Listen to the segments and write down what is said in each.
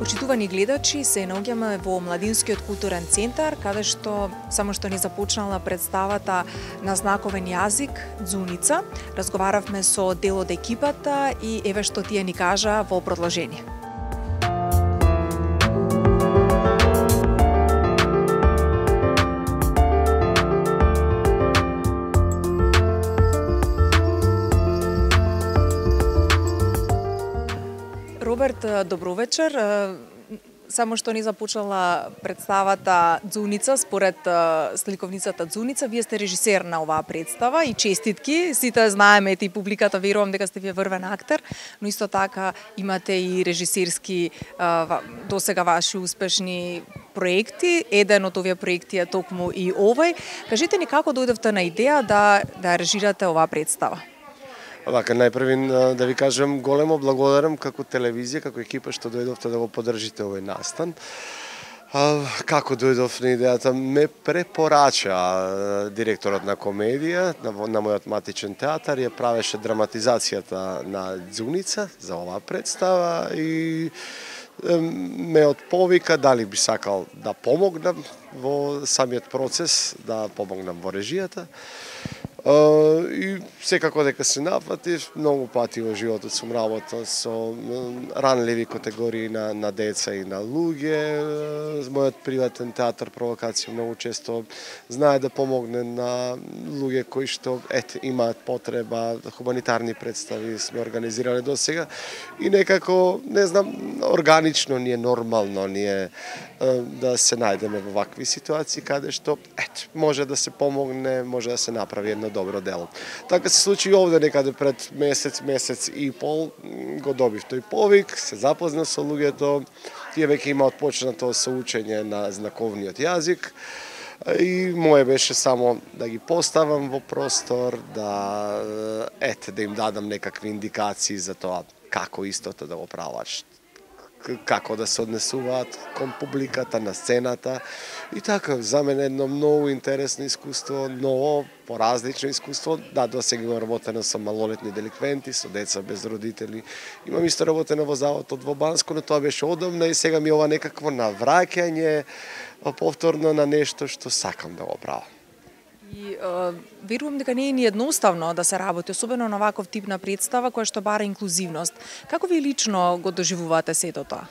Почитувани гледачи, се наоѓаме во Младинскиот културен центар, каде што само што не започнала представата на знаковен јазик Ѕуница. Разговаравме со дел од екипата и еве што тие ни кажа во продолжение. Роберт, добро вечер. Само што ни започнала представата Дзуница, според сликовницата Дзуница, вие сте режисер на оваа представа и честитки. Сите знаеме и публиката, верувам дека сте вие врвен актер, но исто така имате и режисерски досега ваши успешни проекти. Еден од овие проекти е токму и овој. Кажете ни како дојдовте на идеја да режирате оваа представа? Вака, најпрви да ви кажам големо благодарам како телевизија, како екипа што дојдовте да го поддржите овој настан. Како дојдов на идејата? Ме препорача директорот на комедија, на мојот матичен театар, ја правеше драматизацијата на Дзуница за оваа представа и ме отповика дали би сакал да помогнам во самиот процес, да помогнам во режијата. И секако дека се напатив, многу пати во животот сум работел со ранливи категории на деца и на луѓе. Мојот приватен театар Провокација многу често знае да помогне на луѓе кои што имаат потреба, хуманитарни представи сме организирале до сега и некако, не знам, органично ни е нормално да се најдеме во вакви ситуации каде што може да се помогне, може да се направи едно добро дело. Така се случи и овде некаде пред месец и пол, го добив тој повик, се запознав со луѓето, тие веќе имаат почнато со учење на знаковниот јазик и моје беше само да ги поставам во простор, да им дадам некакви индикации за тоа како истото да го прават, како да се однесуваат кон публиката на сцената и така за мене едно многу интересно искуство, ново, поразлично искуство. Да, досега имам работено со малолетни деликвенти, со деца без родители. Имам исто работено во заводот во Банско, но тоа беше одамна и сега ми ова некакво навраќање повторно на нешто што сакам да го правам. И верувам дека не е ни едноставно да се работи, особено на ваков тип на представа која што бара инклузивност. Како ви лично го доживувате сето тоа?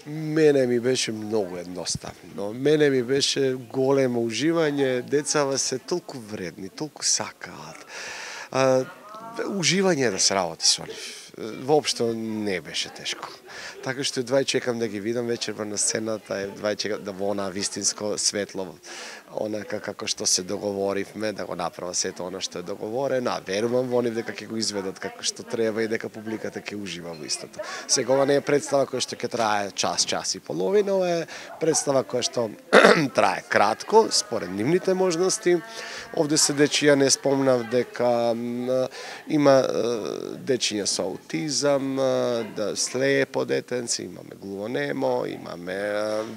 Мене ми беше многу едноставно. Мене ми беше големо уживање. Децава се толку вредни, толку сакаат. Уживање да се работи со нив. Воопшто не беше тешко. Така што едва чекам да ги видам вечерва на сцената, едва чекам да во она вистинско светло, онака како што се договоривме, да го направа сето она што е договорено, а верувам во нив дека ќе го изведат како што треба и дека публиката ќе ужива во истото. Сега ова не е представа која што ќе трае час и половина, ова е представа која што трае кратко, според нивните можности. Овде се дечија, не спомнав дека има дечиња со аутизам, слепо детенци, имаме глувонемо, имаме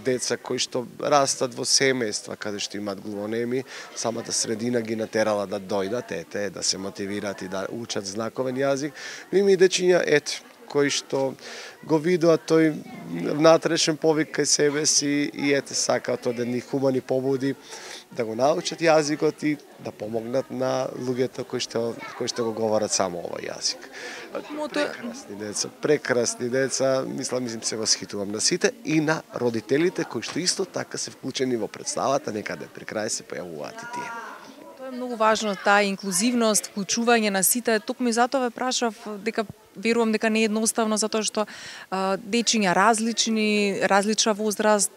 деца кои што растат во семејства каде што имаат глувонеми, самата средина ги натерала да дојдат, да се мотивираат и да учат знаковен јазик. Но има и дечиња, кои што го видува тој внатрешен повик кај себе си и ете сакаат од едни хумани побуди да го научат јазикот и да помогнат на луѓето кои што го говорат само овој јазик. Прекрасни деца, мислам се восхитувам на сите и на родителите кои што исто така се вклучени во представата, некаде при крај се појавуваат и тие. Тоа е многу важно, таа инклузивност, вклучување на сите. Токму и затоа ве прашав дека верувам дека не е едноставно затоа што дечиња различни, различна возраст,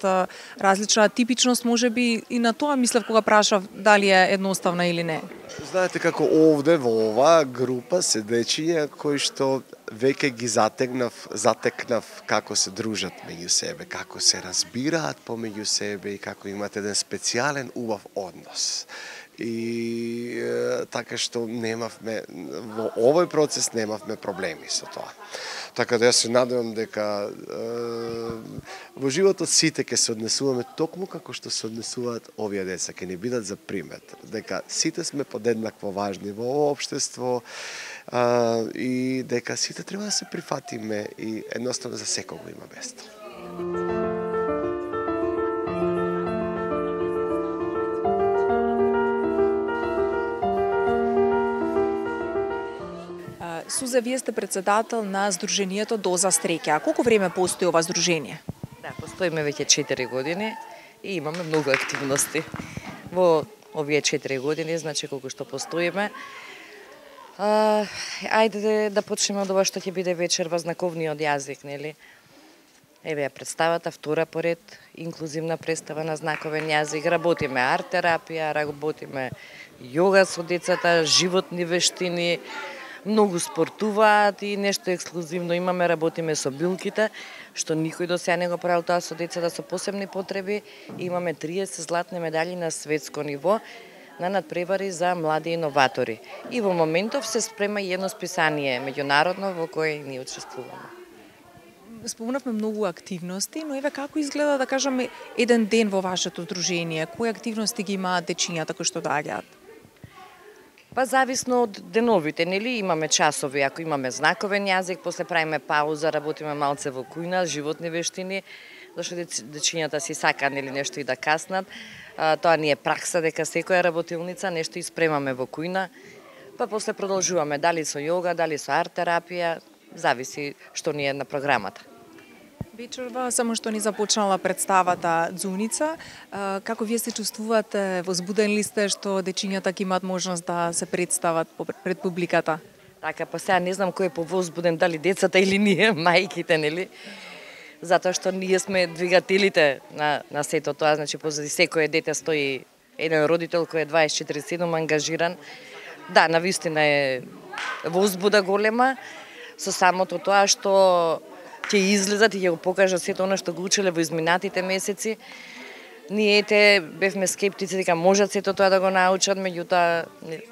различна типичност можеби и на тоа мислев кога прашав дали е едноставно или не. Знаете како овде во оваа група се дечиња кои што веќе ги затекнав како се дружат меѓу себе, како се разбираат помеѓу себе и како имат еден специјален убав однос. И така што немавме во овој процес немавме проблеми со тоа. Така да јас се надевам дека во животот сите ќе се однесуваме токму како што се однесуваат овие деца, ќе ни бидат за пример, дека сите сме подеднакво важни во овој општество и дека сите треба да се прифатиме и едноставно за секого има место. Суза, вие сте председател на Сдруженијето Доза Среќа. А колку време постои ова здружение? Да, постоиме веќе 4 години и имаме многу активности. Во овие 4 години, значи колку што постоиме, ајде да почнеме од ова што ќе биде вечерва знаковниот јазик, нели? Еве ја представата, втора поред, инклузивна представа на знаковен јазик. Работиме арт-терапија, работиме јога со децата, животни вештини, многу спортуваат и нешто ексклузивно имаме, работиме со билките, што никој до сега не го правил тоа со децата со посебни потреби. Имаме 30 златни медали на светско ниво на надпревари за млади иноватори. И во моментов се спрема и едно списание меѓународно во кое ние учествуваме. Спомнавме многу активности, но еве како изгледа, да кажеме, еден ден во вашето здружение? Кои активности ги имаат дечињата кои што доаѓаат? Па зависно од деновите, нели имаме часови, ако имаме знаковен јазик, после правиме пауза, работиме малце во кујна, животни вештини, зашто дечињата си сакаат нели нешто и да каснат. Тоа ни е пракса дека секоја работилница нешто испремаме во кујна, па после продолжуваме дали со јога, дали со арт-терапија, зависи што ни е на програмата. Вечерва само што ни започнала представата Дзуница, како вие се чувствувате, возбудени ли сте што дечињата ќе имаат можност да се представат пред публиката? Така, па сега не знам кој е повозбуден, дали децата или ние, мајките, нели? Затоа што ние сме двигателите на сето тоа, значи позади секое дете стои еден родител кој е 24/7 ангажиран. Да, навистина е возбуда голема со самото тоа што ќе излезат и ќе го покажат сето она што го учеле во изминатите месеци. Ние бевме скептици дека можат сето тоа да го научат, меѓутоа не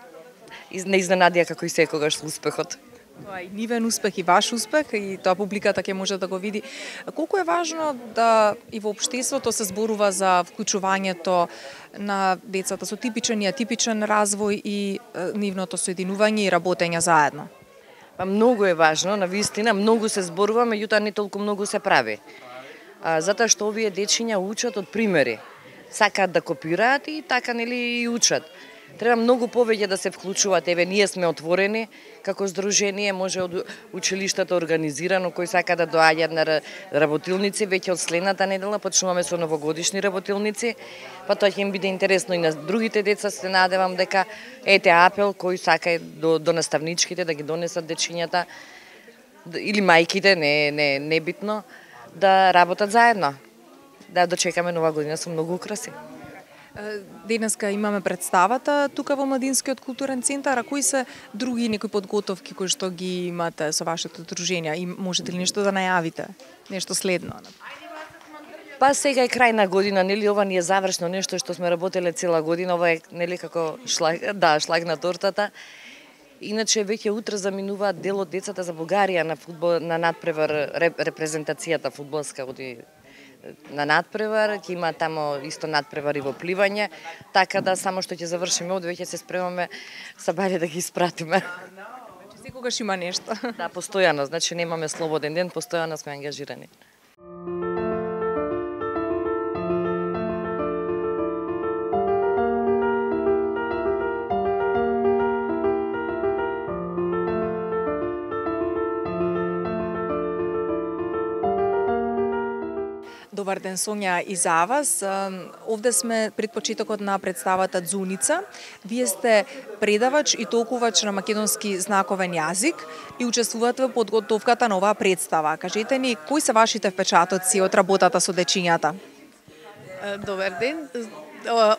изненадија како и секогаш со успехот. Тоа е нивен успех и ваш успех и тоа публиката ќе може да го види. Колку е важно да и во општеството се зборува за вклучувањето на децата со типичен и атипичен развој и нивното соединување и работење заедно? Па многу е важно, навистина, многу се зборува, меѓутоа не толку многу се прави. Затоа што овие дечиња учат од примери. Сакаат да копираат и така нели и учат. Треба многу повеќе да се вклучуваат. Еве, ние сме отворени како здружение, може од училиштата организирано, кои сака да доаѓаат на работилници, веќе од следната недела почнуваме со новогодишни работилници, па тоа ќе им биде интересно и на другите деца, се надевам дека ете апел кој сака до наставничките да ги донесат дечињата или мајките, не битно, да работат заедно. Да дочекаме нова година со многу украси. Денеска имаме представата тука во Младинскиот културен центар, а кои се други некои подготовки кои што ги имате со вашето здружение и можете ли нешто да најавите? Нешто следно? Па сега е крај на година, нели ова ни е завршно нешто што сме работеле цела година, ова е нели како шлаг на тортата. Иначе веќе утре заминуваат дел од децата за Бугарија на фудбал, на надпревар, репрезентацијата фудбалска оди на надпревар, ќе има тамо исто надпревари во пливање, така да само што ќе завршиме од веќе се спремаме сабајле да ги испратиме. Секогаш има нешто. Да, постојано, значи немаме слободен ден, постојано сме ангажирани. Добар ден, Сонја, и за вас. Овде сме пред почетокот на представата Ѕуница. Вие сте предавач и толкувач на македонски знаковен јазик и учествувате во подготовката на оваа представа. Кажете ни, кои се вашите впечатоци од работата со дечињата? Добар ден.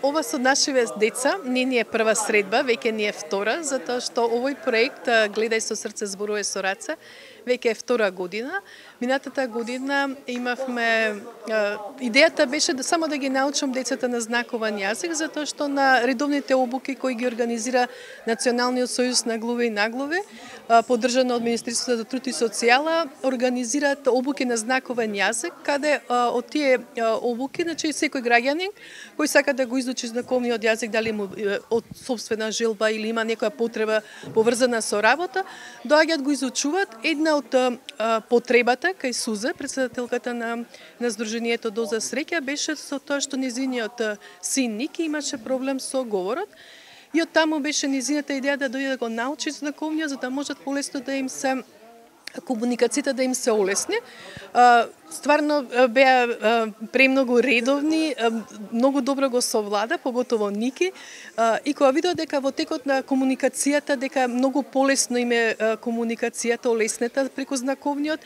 Ова со нашиве деца не ни е прва средба, веќе ни е втора, затоа што овој проект Гледај со срце, зборувај со раце, веќе е втора година. Минатата година имавме идејата беше само да ги научам децата на знакован јазик, затоа што на редовните обуки кои ги организира Националниот сојуз на глуви и наглуви, поддржано од Министерството за труд и социјала, организираат обуки на знаковен јазик, каде од тие обуки, значи секој граѓанин кој сака да го изучи знаковниот јазик, дали му од собствена желба или има некоја потреба поврзана со работа, доаѓаат го изучуваат. Една од потребата кај Суза, председателката на Сдруженијето Доза среќа, беше со тоа што незиниот син Ники имаше проблем со говорот. И од таму беше незината идеја да дојде да го научи знаковниот, за да можат полесно да им се комуникацијата да им се олесни. Стварно беа премногу редовни, многу добро го совлада, поготово Ники, и кога видеа дека во текот на комуникацијата, дека многу полесно им е комуникацијата олеснета преку знаковниот,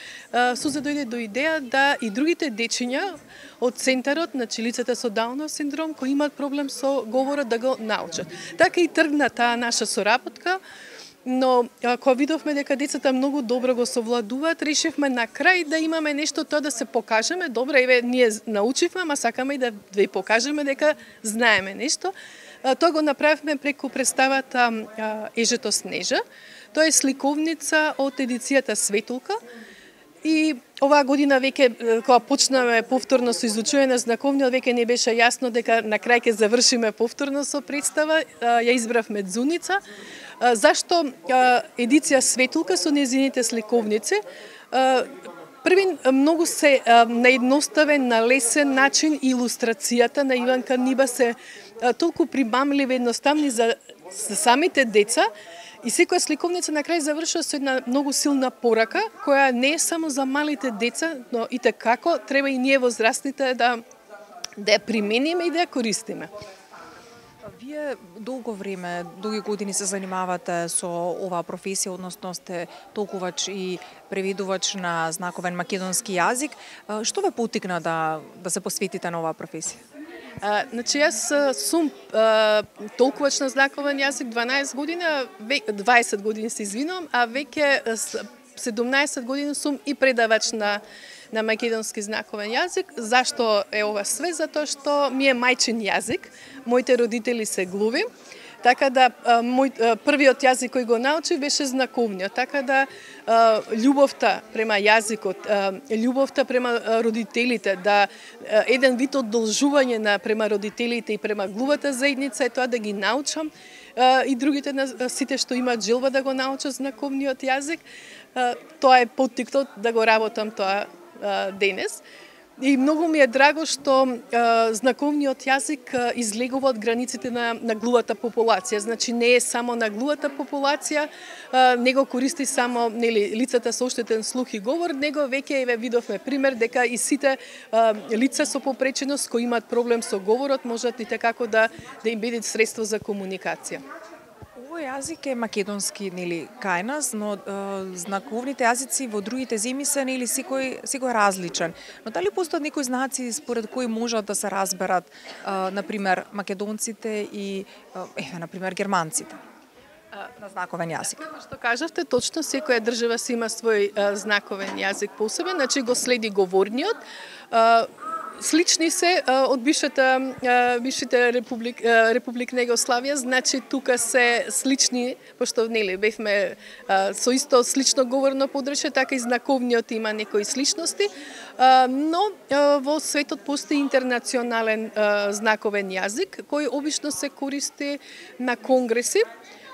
Суза дојде до идеја да и другите дечиња од центарот, значи лицата со Даунов синдром, кои имаат проблем со говорот, да го научат. Така и тргна таа наша соработка. Но кога видовме дека децата многу добро го совладуваат, решивме на крај да имаме нешто тоа да се покажеме. Добре, еве ние научивме, ама сакаме и да ви покажеме дека знаеме нешто. Тоа го направивме преку представата Ежето Снежа. Тоа е сликовница од едицијата Светулка. И оваа година веќе кога почнаме повторно со изучување на знаковниот, веќе не беше јасно дека на крај ќе завршиме повторно со представа. Ја избравме Ձуница. Зашто едиција Светулка со незините сликовници? Првин, многу се на едноставен, на лесен начин илустрацијата на Иванка Ниба се толку примамливи, едноставни за самите деца. И секоја сликовница на крај завршува со една многу силна порака, која не е само за малите деца, но и како треба и ние возрастните да ја примениме и да ја користиме. Вие долго време, долги години се занимавате со оваа професија, односно сте толкувач и преведувач на знаковен македонски јазик. Што ве поттикна да се посветите на оваа професија? Значи, јас сум толкувач на знаковен јазик 12 години, 20 години се извинувам, а веќе 17 години сум и предавач на македонски знаковен јазик. Зашто е ова све? Затоа што ми е мајчин јазик. Моите родители се глуви. Така да првиот јазик кој го научив беше знаковниот. Така да љубовта према јазикот, љубовта према родителите, да еден вид одолжување према родителите и према глувата заедница е тоа да ги научам и другите сите што имаат желба да го научат знаковниот јазик. Тоа е поттикнот да го работам тоа денес. И многу ми е драго што знаковниот јазик излегува од границите на глувата популација. Значи не е само на глувата популација, не го користи само лицата со оштетен слух и говор, него веќе видовме пример дека и сите лица со попреченост кои имаат проблем со говорот можат и како да им биде средство за комуникација. Овој јазик е македонски, кај нас, но знаковните јазици во другите земји се секој различен. Но дали постојат некои знаци според кои можат да се разберат, например, македонците и например германците на знаковен јазик? Како што кажавте, точно секоја држава си има свој знаковен јазик посебен, значи го следи говорниот. Слични се од бившите Република Југославија, значи тука се слични, пошто бевме со исто слично говорно подречје, така и знаковниот има некои сличности, но во светот постои интернационален знаковен јазик кој обично се користи на конгреси.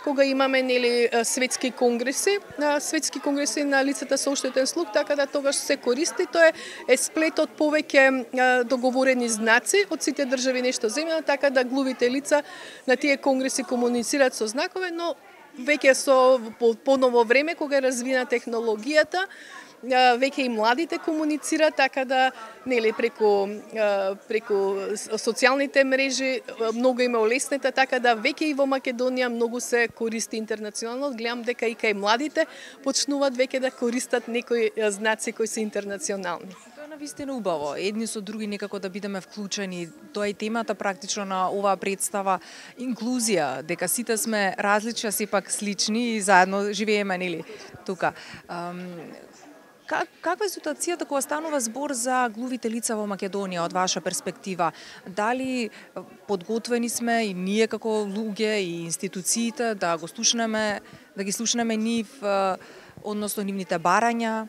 кога имаме нели светски конгреси на лицата со оштетен слух, така да тогаш се користи. Тоа е сплет од повеќе договорени знаци од сите држави нешто земјано, така да глувите лица на тие конгреси комуницираат со знакове, но веќе со поново време кога е развина технологијата, веќе и младите комуницираат, така да нели преку социјалните мрежи многу има олеснета, така да веќе и во Македонија многу се користи интернационално. Гледам дека и кај младите почнуваат веќе да користат некои знаци кои се интернационални. Тоа е навистина убаво. Едни со други некако да бидеме вклучени. Тоа е темата практично на оваа представа, инклузија, дека сите сме различни, а сепак слични и заедно живееме нели тука. Каква е ситуацијата кога станува збор за глувите лица во Македонија од ваша перспектива? Дали подготвени сме и ние како луѓе и институциите да ги слушнеме нив, односно нивните барања?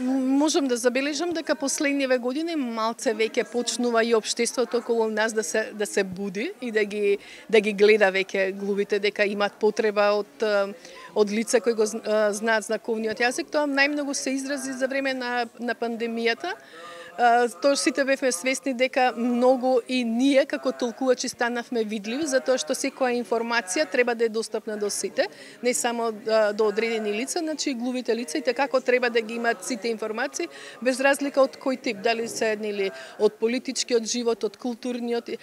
Можам да забележам дека последниве години малце веќе почнува и општеството околу нас да се буди и да ги гледа веќе глувите, дека имаат потреба од лица кои го знаат знаковниот јазик. Тоа најмногу се изрази за време на пандемијата. Тоа сите бевме свесни дека многу и ние како толкувачи станавме видливи, затоа што секоја информација треба да е достапна до сите, не само до одредени лица, значи и глувите лица и како треба да ги имаат сите информации, без разлика од кој тип, дали се нели од политичкиот живот, од културниот.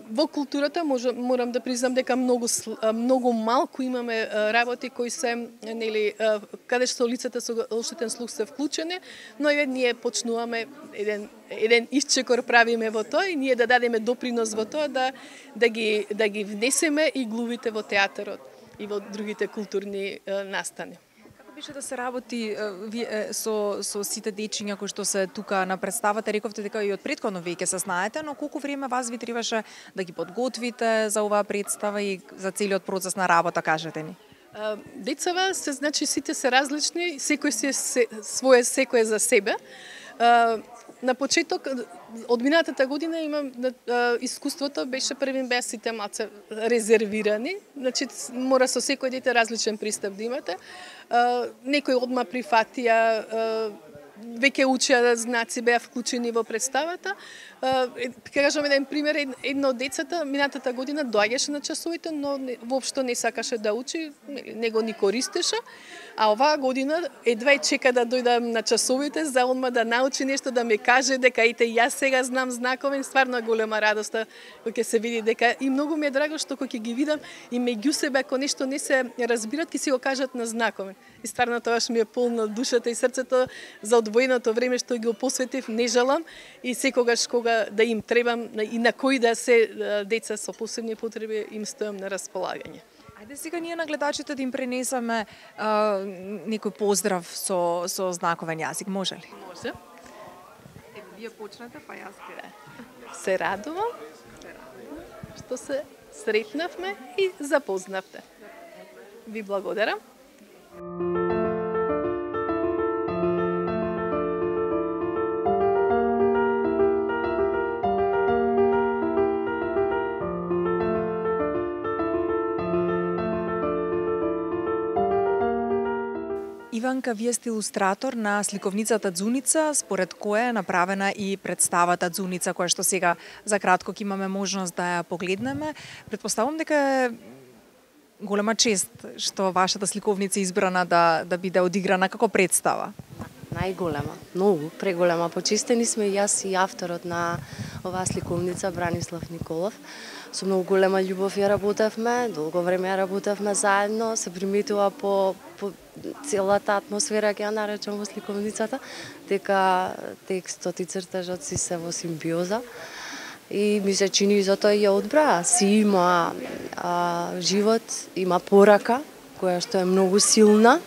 Во културата морам да признам дека многу малку имаме работи кои се нели каде што лицата со оштетен слух се вклучени, но и ние почнуваме еден исчекор правиме во тоа и ние да дадеме допринос во тоа да ги внесеме и глувите во театарот и во другите културни настани. Како беше да се работи со сите дечиња кои што се тука на представата? Рековте дека и од претходно веќе се знаете, но колку време вас ви требаше да ги подготвите за оваа представа и за целиот процес на работа, кажете ни? Децава се, значи сите се различни, секој секој е за себе. На почеток, од минатата година имам искуството, беа сите малце резервирани, значи мора со секој дете различен пристап да имате. Некои одма прифатија, веќе учеа знаци, беа вклучени во представата. Кажам еден пример, едно од децата минатата година доаѓаше на часовите, но воопшто не сакаше да учи, не го ни користеше, а оваа година едва чека да дојдам на часовите за одма да научи нешто, да ми каже дека ете јас сега знам знаковен, стварно голема радост кога ќе се види дека и многу ми е драго што кога ќе ги видам и меѓу себе ако нешто не се разбират, ќе си го кажат на знаковен. И стварно тоа ми е полно душата и срцето за одвоеното време што ги посветив, не жалам и секогаш кога да им требам и на кои да се деца со посебни потреби им стојам на располагање. Ајде сега ние на гледачите да им пренесеме некој поздрав со знаковен јазик, може ли? Може. Вие почнете, па јас ќе. Се радувам што се сретнавме и запознавте. Ви благодарам. Иванка, вие сте илустратор на сликовницата Ѕуница, според која е направена и представата Дзуница, која што сега за кратко ќе имаме можност да ја погледнеме. Предпоставувам дека е голема чест што вашата сликовница е избрана да биде одиграна како представа. Најголема, многу, преголема. Почестени сме и јас и авторот на оваа сликовница, Бранислав Николов. Со многу голема љубов ја работевме, долго време ја работевме заедно, се приметува по целата атмосфера, ќе ја наречам во сликовницата, дека текстот и цртажот си се во симбиоза. И ми се чини затоа ја одбра. Си има живот, има порака, која што е многу силна,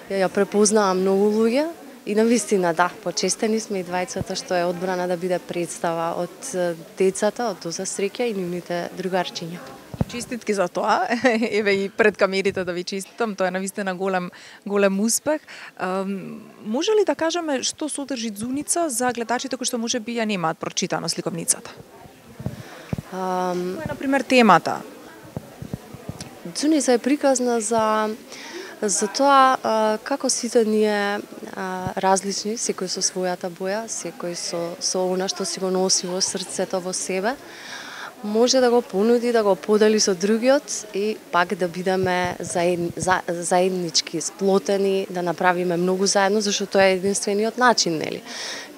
ја препознаа многу луѓе. И навистина, да, почестени сме и двајцата што е одбрана да биде представа од децата, од Доза Среќа и нивните другарчиња. Честитки за тоа. Еве и пред камерите да ви честитам, тоа е навистина голем успех. Може ли да кажеме што содржи Дзуница за гледачите кои што можеби ја немаат прочитано сликовницата? Која е, например, темата? Дзуница е приказна за тоа како сите ние различни, секој со својата боја, секој со она што си го носи во срцето во себе, може да го понуди, да го подели со другиот и пак да бидеме заеднички, сплотени, да направиме многу заедно, зашто тоа е единствениот начин, нели?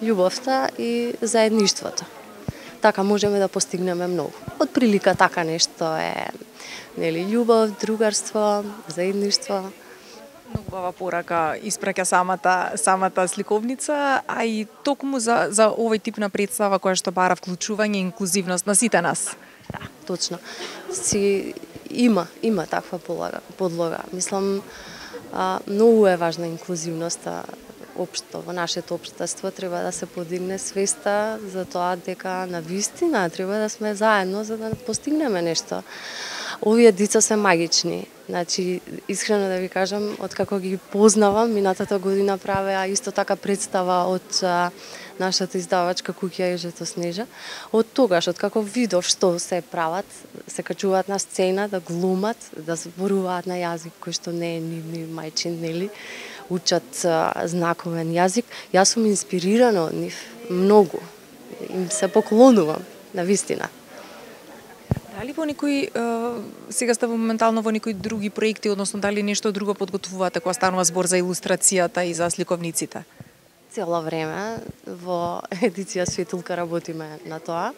Љубовта и заедништвото. Така можеме да постигнеме многу. Од прилика така нешто е, нели, љубов, другарство, заедништво. Многу убава порака испраќа самата сликовница, а и токму за овој тип на представа која што бара вклучување и инклузивност на сите нас. Да, точно. Има таква подлога. Мислам, многу е важна инклузивноста општо во нашето општество, треба да се подигне свеста за тоа дека навистина треба да сме заедно за да постигнеме нешто. Овие деца се магични. Значи, искрено да ви кажам, откако ги познавам, минатата година правеа исто така представа од нашата издавачка куќа Ежето Снежа. Од тогаш, откако видов што се прават, се качуваат на сцена, да глумат, да зборуваат на јазик кој што не е ни мајчин, нели? Учат знаковен јазик. Јас сум инспирирана од нив многу. Им се поклонувам, навистина. Дали во некои, сега сте моментално во некои други проекти, односно дали нешто друго подготвувате кога станува збор за илустрацијата и за сликовниците? Цело време во едиција Светулка работиме на тоа.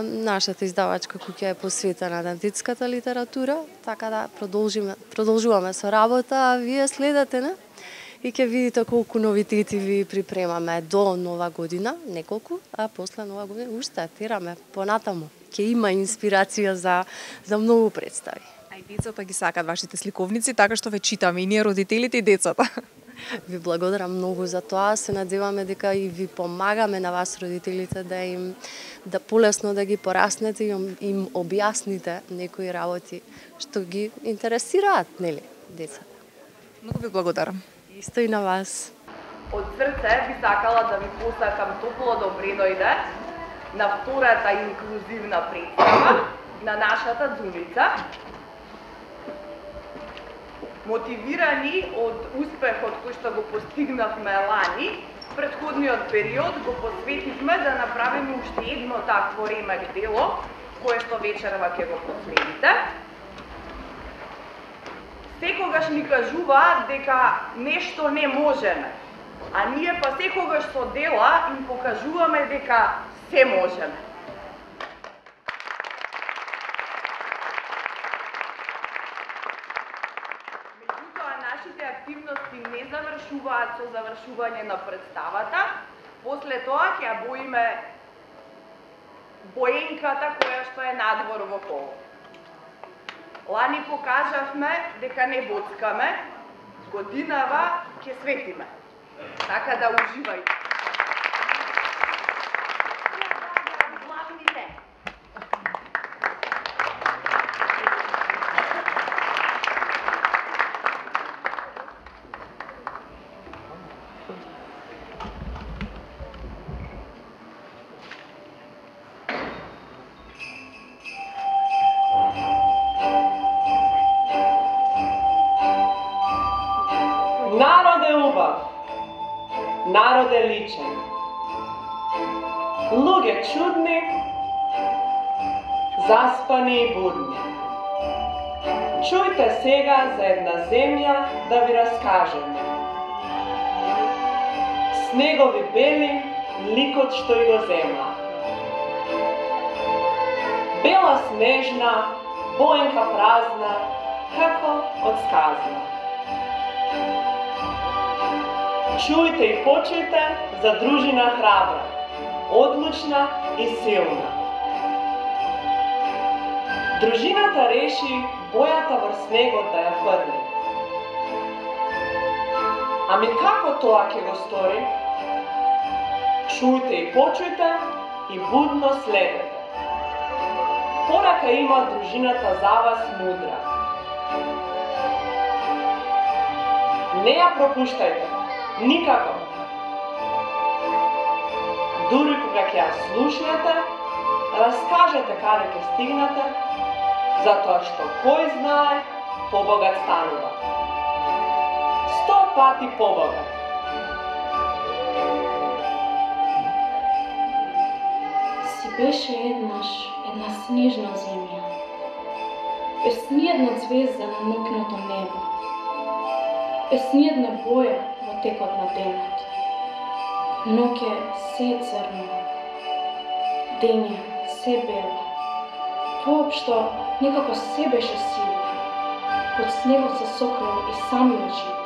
Нашата издавачка куќа е посветена на детската литература, така да продолжуваме со работа, а вие следете, не? И ќе видите колку новитети ви припремаме до нова година, неколку, а после нова година уште тераме понатаму. Ќе има инспирација за многу представи. А и децата ги сакат вашите сликовници, така што ве читаме и ние родителите и децата. Ви благодарам многу за тоа. Се надеваме дека и ви помагаме на вас родителите да полесно да ги пораснете и им објасните некои работи што ги интересираат, нели, децата. Многу ви благодарам. Исто и на вас. Од срце би сакала да ви посакам топло добредојде на втората инклузивна представа на нашата Дзуница. Мотивирани од успехот кој што го постигнавме лани, претходниот период го посветивме да направиме уште едно такво ремек дело, кое што вечерва ќе го последите. Секогаш ни кажуваат дека нешто не можеме, а ние па секогаш со дела им покажуваме дека се можеме. Меѓутоа, нашите активности не завршуваат со завршување на представата, после тоа ќе боиме боенката која што е надвор во холот. Лани покажавме дека не боцкаме, годинава ќе светиме. Така да уживајте. Народ е убав, народ е личен, луѓе чудни, заспани и будни. Чујте сега за една земја да ви раскажем. Снегови бели, ликот што и го земја. Бела снежна, боенка празна, како од сказна. Чујте и почујте за дружина храбра, одлучна и силна. Дружината реши бојата врз снегот да ја фрли. Ами како тоа ќе го стори? Чујте и почујте и будно следете. Порака има дружината за вас мудра. Не ја пропуштајте. Никако. Дури кога ќе ја слушнете, раскажете каде ќе стигнете, затоа што кој знае, побогат станува. 100 пати побогат. Си беше еднаш една снежна земја, без ниедна звезда на нокното небо, без ниедна боја во текот на денот. Ноќе се црно, дење се бело, воопшто некако се беше сиво, под снегот се сокрил и самиот живот.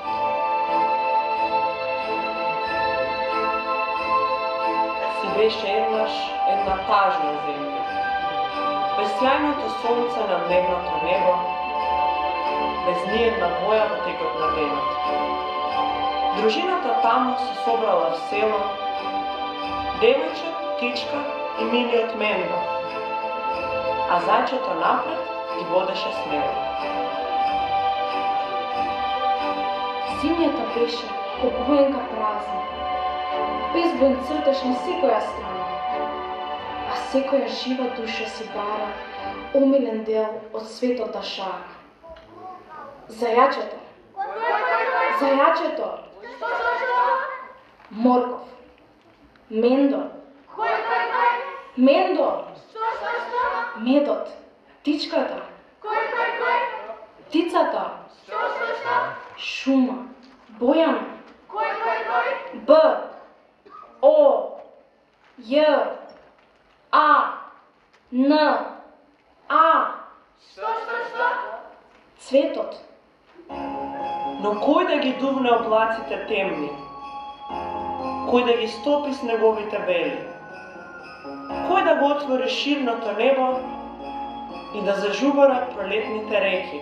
Си беше еднаш една тажна земја, без сјајното сонце на дневното небо, без ниедна боја во текот на денот. Дружината таму се собрала в село, девојче, птичка и милиот Мендо, а зајчето напред ги водеше смело. Земјата беше ко боенка празна, без боен цртеж на секоја страна, а секоја жива душа си бара омилен дел од светот да шара. Зајачето! Зајачето! Морков! Мендо! Мендо! Медот! Птичката! Птицата! Шума! Бојана! Б! О! Ј! А! Н! А! Цветот! Но кој да ги дувне облаците темни? Кој да ги стопи снеговите бели? Кој да го отвори ширното небо и да зажубарат пролетните реки?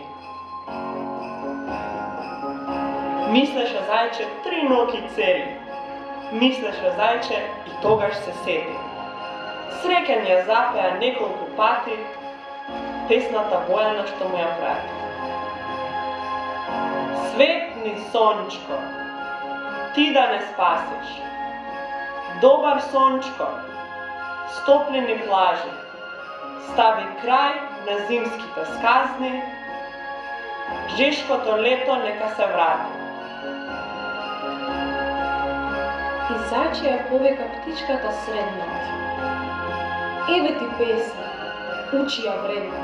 Мислеше зајче 3 ноки цели, мислеше зајче и тогаш се сети. Среќен ја запеа неколку пати песната Бојана што му ја прати. Светни сончко, ти да не спасиш. Добар сончко, стоплени плажи, стави крај на зимските сказни, жешкото лето нека се врати. И зајче ја повека птичката среднат. Еве ти песна, учи ја вредно,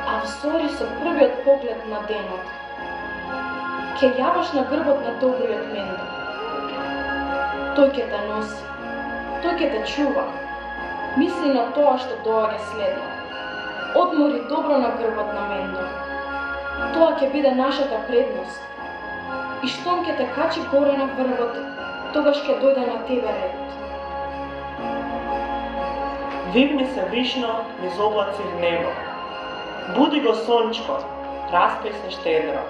а всори со првиот поглед на денот, ке јаваш на грбот на добриот Мендо. Тој ке те носи, тој ке те чува, мисли на тоа што доаѓа следно. Одмори добро на грбот на Мендо. Тоа ќе биде нашата предност. И штом ке те качи горе на врвот, тогаш ќе дојде на тебе редот. Вивни се вишно низ облаци в небо. Буди го сончко, распеј се штедро.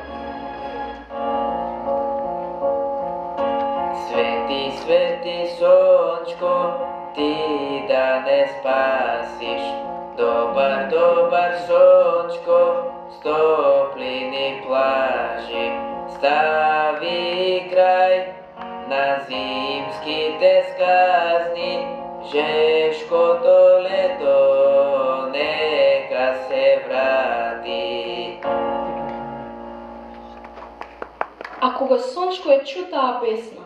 Свети, свети сончко, ти да не спасиш. Добар, добар сончко, стоплени плажи, стави крај на зимските сказни, жешкото лето нека се врати. А кога сончко ја чу таа песна,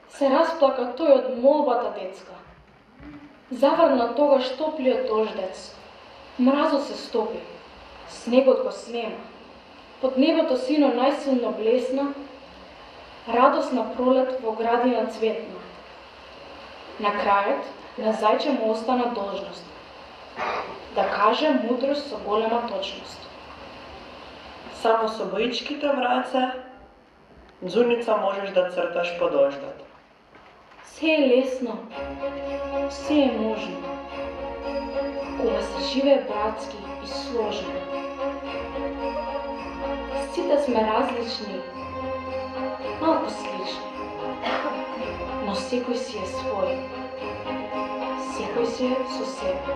се расплака тој од молбата детска. Заврна тогаш топлиот дождец, мразот се стопи, снегот го снема, под небото сино најсилно блесна, радосна пролет во градина цветна. На крајот, на зајче му остана должност, да каже мудрост со голема точност. Само со боичките враце, Дзуница можеш да црташ по дождот. Се е лесно, се е можно, кога се живее братски и сложно. Сите сме различни, малку слични, но секој си е свој, секој си е со себе.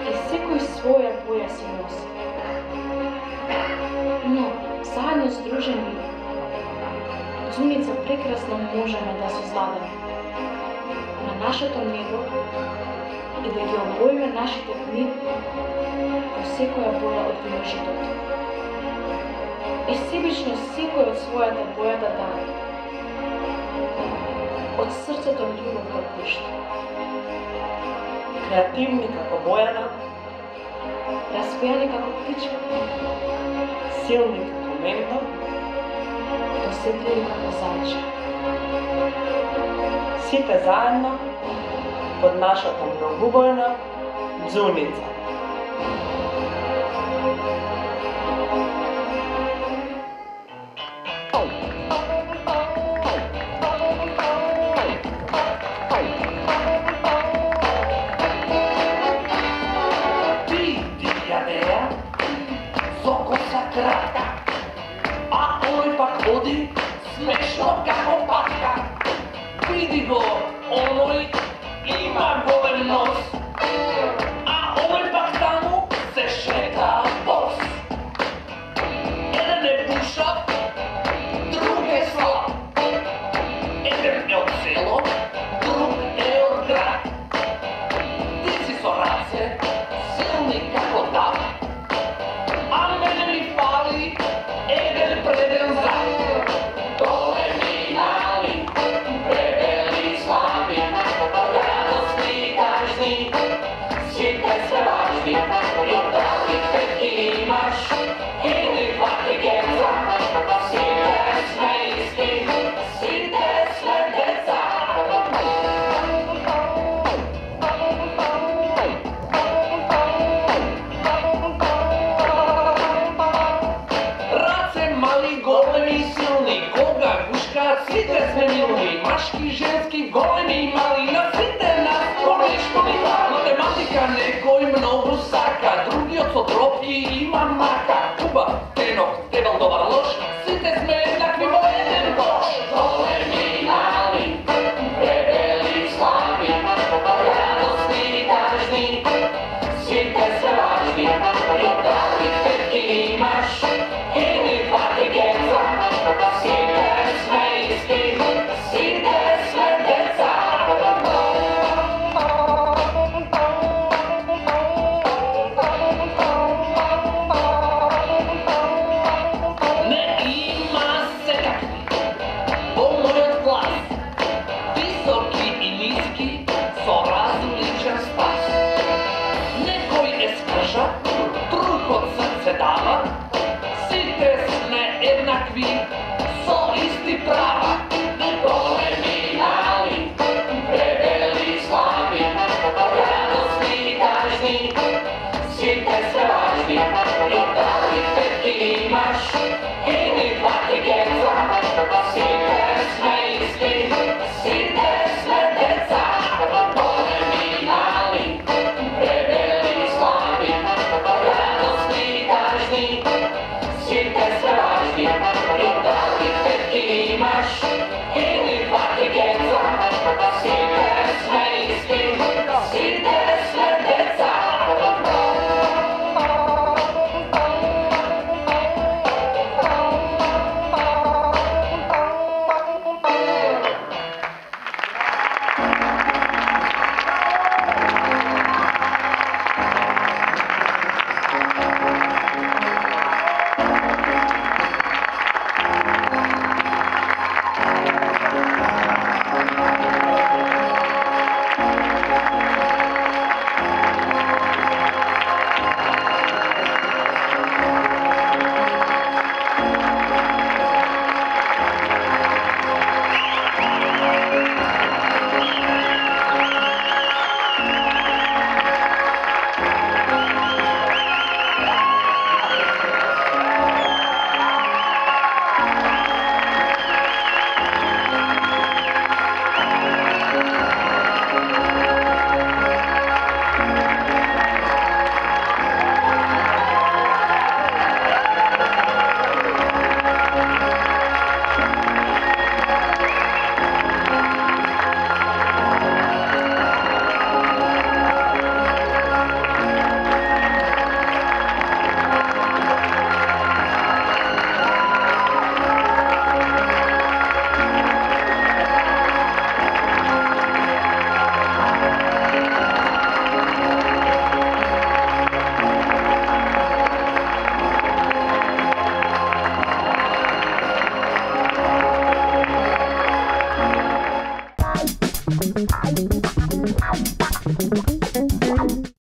И секој своја боја си носи. Но, заедно сдружени, Дзуница прекрасно можеме да создадеме на нашето небо и да ги обоиме нашите дни во секоја боја од виножитото. И себично секој од својата боја да даде. Од срцето љубов да пушта. Креативни како Бојана, Распејани како птичка, силни како Менда, досетливи како зајче. сите заедно под нашата многубојна ѕуница.